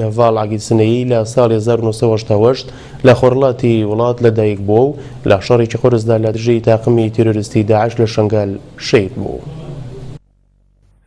هەڤاڵ عەگید سنەیی لە ساڵی 1988 لە خۆرهەڵاتی وڵات لە دایک بووە و لە شەڕێکی قورسدا لە دژی تاقمی تیرۆریستی داعش لە شەنگال شەهید بوو.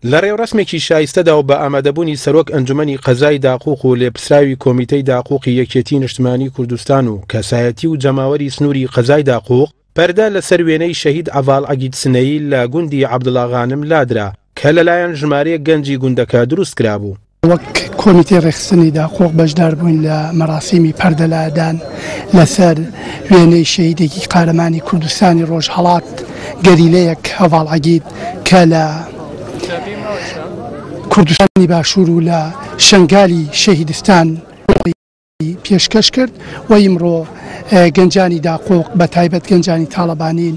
لە ڕێوڕەسمێکی شایستەدا و بە ئامادەبوونی سەرۆک ئەنجومەنی قەزای داقوق و لێپرسراوی کۆمیتەی داقوقی یەکێتی نیشتمانی کوردستان و کەسایەتی و جەماوەری سنووری قەزای داقوق، پەردە لەسەر وێنەی شەهید عەڤاڵ عەگید سنەیی لە گوندی عەبدوڵا غانم لادرا کە لەلایەن ژمارەیەک گەنجی گوندەکە دروستکرابوو. وەک کۆمیتەی ڕێکخستنی داقوق بەشدار بووین لە مەراسیمی پەردەلادان لەسەر وێنەی شەهیدێکی قارەمانی کوردستانی ڕۆژهەڵات گەریلەیەک هەڤاڵ عەگید کە لە کوردستانی باشوور و لە شەنگالی شەهیدستان پێشکەش کرد و ئیمڕۆ گەنجانی داقوق بە تایبەت گەنجانی تاڵەبانی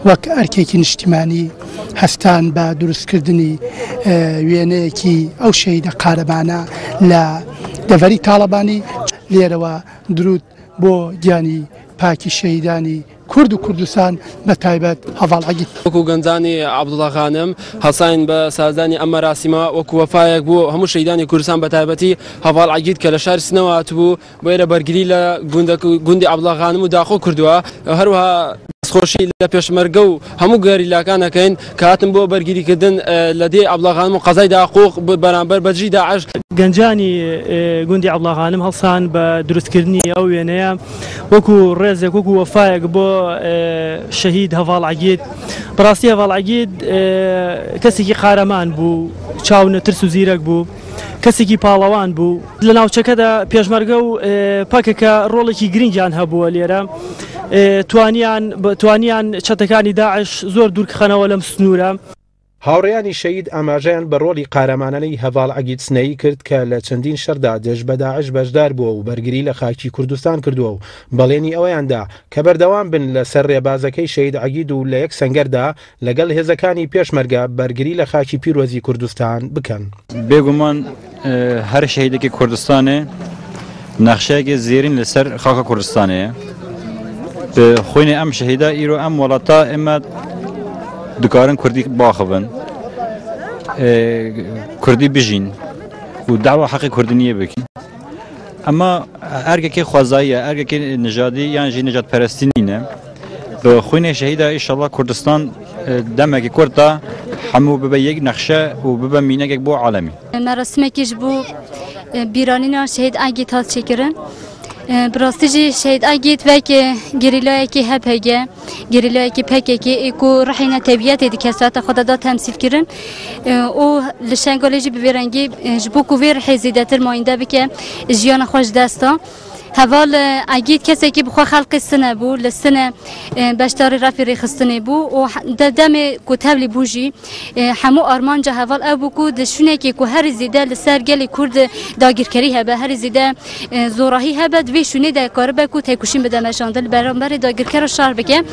وەک ئەرکێکی نیشتیمانی هەستان بە دروستکردنی وێنەیەکی ئەو شەهیدە قارەمانە لە دەڤەری تاڵەبانی لێرەوە درود بۆ گیانی پاکی شەهیدانی کورد و کوردستان بە تایبەت هەڤاڵ عەگید. وەکو گەنجانی عەبدوڵا خانم هەڵساین بە سازدانی ئەم مەراسیمە وەکو وەفایەک بۆ هەموو شەهیدانی کوردستان بە تایبەتی هەڤاڵ عەگید کە لە شاری سنەوە هاتبوو بۆ ئێرە بەرگری لە گوندی عەبدوڵا خانم و داخۆ کردووە هەروەها دەستخۆشی لە پێشمەرگە و هەموو گەریلاکان ئەکەین کە هاتن بۆ بەرگریکردن لە دێی عەبدوڵا خانم و قەزای داقوق بەرامبەر بە دژی داعش. گەنجانی گوندی عەبدوڵا خانم هەڵسان بە دروستکردنی ئەو وێنەیە وەکو ڕێزێک وەکو وەفایەک بۆ شەهید هەڤاڵ عەگید. بەڕاستی هەڤاڵ عەگید کەسێکی قارەمان بوو، چاونەترس و زیرەک بوو، کەسێکی پاڵەوان بوو. لە ناوچەکەدا پێشمەرگە و پەکەکە ڕۆڵێکی گرنگیان هەبووە لێرە، توانیان توانیان چەتەکانی داعش زۆر دوورکخەنەوە لەم سنوورە. هاوڕێیانی شەهید ئاماژەیان بە ڕۆڵی قارەمانانەی هەڤاڵ عەگید سنەیی کرد کە لە چەندین شەڕدا دژ بە داعش بەشدار بووە و بەرگری لە خاکی کوردستان کردووە و بەڵێنی ئەوەیان دا کە بەردەوام بن لە سەر ڕێبازەکەی شەهید عەگید و لە یەک سەنگەردا لەگەڵ هێزەکانی پێشمەرگە بەرگری لە خاکی پیرۆزی کوردستان بکەن. بێگومان هەر شەهیدێکی کوردستانێ نەخشەیەکی زێرین لەسەر خاکە کوردستانەیە. خوێنی ئەم شەهیدا ئیرۆ ئەم وڵاتە ئێمە دکارن کوردی باخبن کوردی بژین و داوا حەقی کوردی نییە بکەین. ئەمە ئەرکێکی خۆزاییە، ئەرکێکی نژادی یان ژی نژاد پەرستی نینە. بە خوێنی شەهیدا ئیشەڵا کوردستان دەمێکی کورتە هەموو ببە یەک نەخشە و ببە مینەکێک بۆ عالەمی. مەراسیمێکیش بۆ بیرانینا شەهید عەگید هات چێکردن. bi rastî jî şehîd Egîd wek gerîlayekî HPG, gerîlayekî PKK ê ku rihê netewiyetê di kesayeta xwe de da temsîlkirin û li Şengalê jî bi vê rengî ji bo ku vê rihê zêdetir mayînde bike jiyana xwe ji dest da. Heval Egîd kesekî bi xwe xelqê Sine bû, li Sine beşdarî refê rêxistinê bû û di demê ku tevlî bû jî hemû armanca heval ew bû ku di şûnekê ku herî zêde li ser gelê Kurd dagirkerî hebe, herî zêde zorahî hebe, di vê şûnê de karibe ku têkoşîn bide meşandin li beramberê dagirkera şer bike.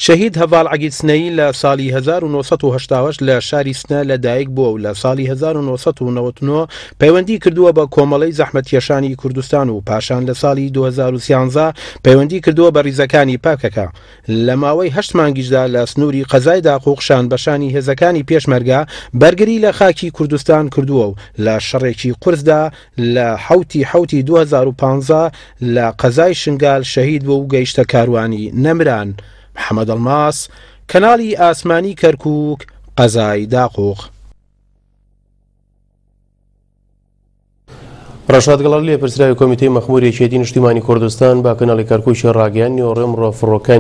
شەهید هەڤاڵ عەگید سنەیی لە ساڵی 1988 لە شاری سنە لە دایک بووە و لە ساڵی 1999 پەیوەندی کردووە بە کۆمەڵەی زەحمەتکێشانی کوردستان و پاشان لە ساڵی 2013 پەیوەندی کردووە بە ڕیزەکانی پەکەکە. لە ماوەی هەشت مانگیشدا لە سنووری قەزای داقوق شانبەشانی هێزەکانی پێشمەرگە بەرگری لە خاکی کوردستان کردووە و لە شەڕێکی قورسدا لە حەوتی حەوتی 2015 لە قەزای شنگال شەهید بوو و گەیشتە کاروانی نەمران. محەمەد ئەڵماس، کەناڵی ئاسمانی کەرکووک، قەزای داقوق. ڕەشاد گەڵاڵی لێپرسراوی کۆمیتەی مەخموور یەکێتی نیشتیمانی کوردستان بە کەناڵی کەرکووکی ڕاگەیاند، نیوەڕۆی ئەمڕۆ فڕۆکەی.